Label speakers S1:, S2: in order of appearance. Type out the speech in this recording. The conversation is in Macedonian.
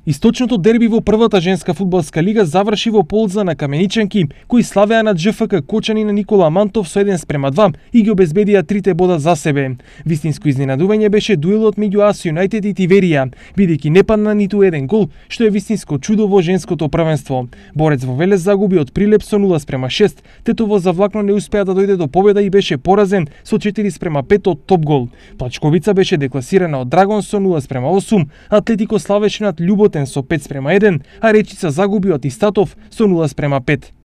S1: Источното дерби во првата женска фудбалска лига заврши во полза на каменичанки, кои славеа над ЖФК Кочани на Никола Мантов со 1:2 и ги обезбедија 3 бода за себе. Вистинско изненадување беше дуелот меѓу АС Юнајтед и Тиверија, бидејќи не падна ниту еден гол, што е вистинско чудо во женското првенство. Борец во Велес загуби од Прилеп со 0:6, Тетово завлакно не успеа да дојде до победа и беше поразен со 4:5 од Топгол. Плачковица беше декласирана од Драгон со 0:8, Атлетико славеше над Љуботен со 5:1, а Речица загуби од Истатов со 0:5.